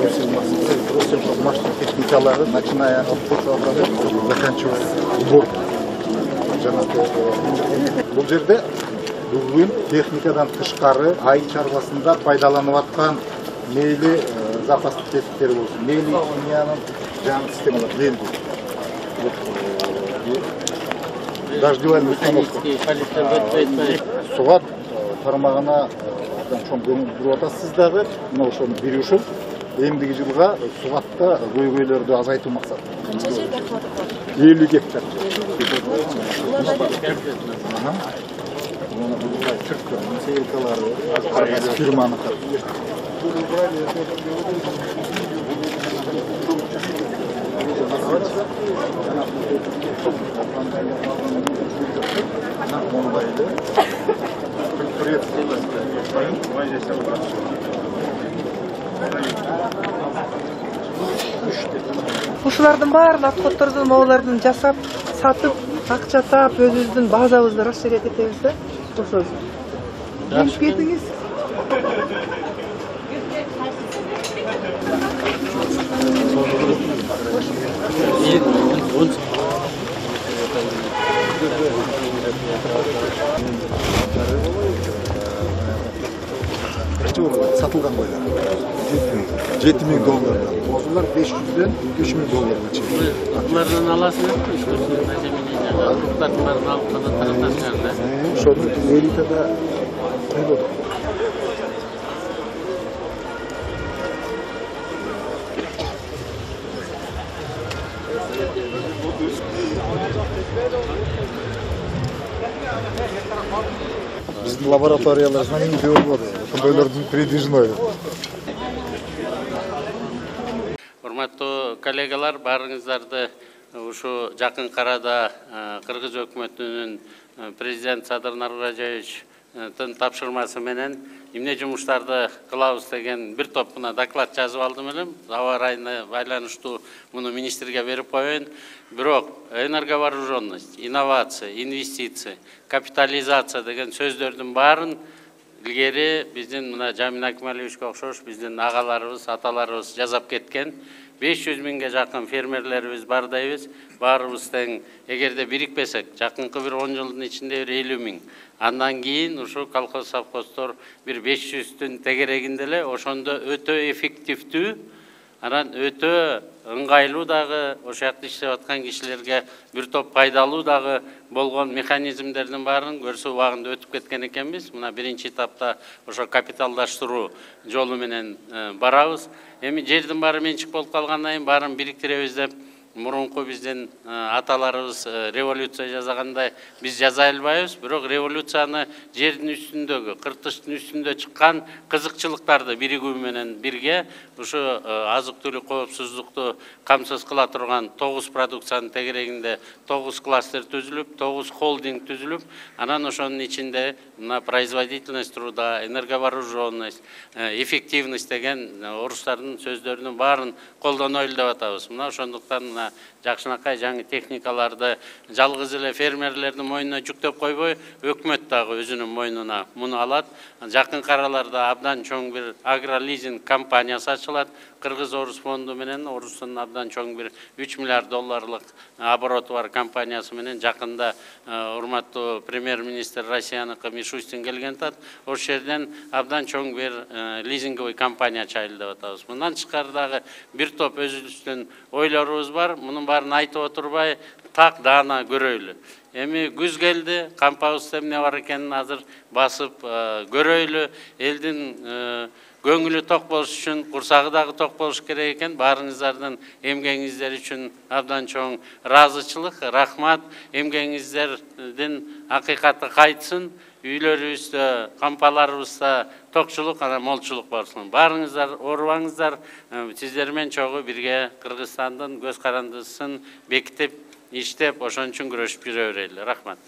Машина техникалары, начиная от заканчивая сбор. Бул жерде бүгүн техникадан тышкары айыл чарбасында пайдаланып аткан мейли запастык тесиктер болсун, мейли химиянын жаңы системалар белди. Дождевая установка. Суга тармагына чоң көңүл буруп атасыз дагы. Мына ошону беришип, эмдиги жылга сугатта көйгөйлөрдү азайтуу максатында. Канча жерде кылып бар? 50 гектар. Türk firmaları, firmanın Ушулардын баарын отходдорду могулардын жасап, сатып, акча таап, өзүбүздүн базабызды расширять этебиз да. Ошол. Келип кетиңиз. Satılgan koylar. $7.000. Bozullar $500'den $3.000'a çekiyor. Bunlardan alasın mı? Bunlardan alıp da taraftarlar. Şonu Elitada ne oldu? Bizim laboratuvaryalardan iyi olmadı. Bunlardan передвижной. Урматтуу коллегалар, барыңыздарды ушу жакын карада Кыргыз өкмөтүнүн президент Садыр Наргожаевичтин тапшырмасы менен эмне жумуштарды кылабыз деген бир топ мына доклад жазып алдым элем. Аба ырайына байланыштуу муну министрге берип коеюн. Бирок энерговооруженность, инновация, инвестиция, капитализация деген сөздөрдүн баарын илгери биздин мына Жамин Акмалиевичке окшош биздин агаларыбыз, аталарыбыз жазап кеткен. 500 миңге жакын фермерлерибиз бар дейбиз. Баарыбыз тең, эгерде бирикпесек, жакынкы бир 10 жылдын ичинде 50 миң. Андан кийин ушу колхоз совхоздор бир 500-түн тегерегинде эле ошондо өтө эффективдүү, анан өтө ыңгайлуу дагы ошол жакта иштеп аткан кишилерге бир топ пайдалуу дагы болгон механизмдердин баарын көрсө убагында өтүп кеткен экенбиз. Мына биринчи этапта ошо капиталдаштыруу жолу менен барабыз. Эми жердин баары менчик болуп калгандан кийин баарын бириктиребиз деп мурунку биздин аталарыбыз революция жасагандай биз жаза албайбыз. Бирок революцияны жердин үстүндөгү, кыртыштын үстүндө чыккан кызыкчылыктарды биригүү менен бирге ушу азык-түлүк коопсуздукту камсыз кыла турган 9 продукциянын тегерегинде 9 кластер түзүлүп, 9 холдинг түзүлүп, анан ошонун ичинде мына производительность труда, энерговооруженность, эффективность деген орустардын сөздөрүнүн баарын колдонойлу деп атабыз. Мына ошондуктан жакшынакай жаңы техникаларды жалгыз эле фермерлердин мойнуна жүктөп койбой, өкмөт дагы өзүнүн мойнуна муну алат. Жакын араларда абдан чоң бир агролизинг компаниясы ачылат. Кыргыз Орус фонду менен Орустун абдан чоң бир $3 миллиард обороты бар компаниясы менен жакында урматтуу премьер-министр Россияныкы Мишустин келген тат. Ошол жерден абдан чоң бир лизинговый компания чайлы деп атабыз. Мындан тышкары дагы бир топ өзүбүздүн ойлорубуз бар. Мунун баарын айтып отурбай так даана көрөйлү. Эми күз келди, кампабызда эмне бар экенин азыр басып көрөйлү. Элдин көңүлү ток болуш үчүн курсагы дагы ток болуш керек экен. Баарыңыздардын эмгегиңиздер үчүн абдан чоң ыраазычылык, рахмат. Эмгегиңиздердин акыйкаты кайтсын. Үйлөрүбүздө, кампаларыбызда токчулук, анан молчулук болсун. Баарыңыздар оорубаңыздар. Сиздер менен чогуу бирге Кыргызстандын көз карандысын бекитип, иштеп, ошон үчүн күрөшүп жүрө берели. Рахмат.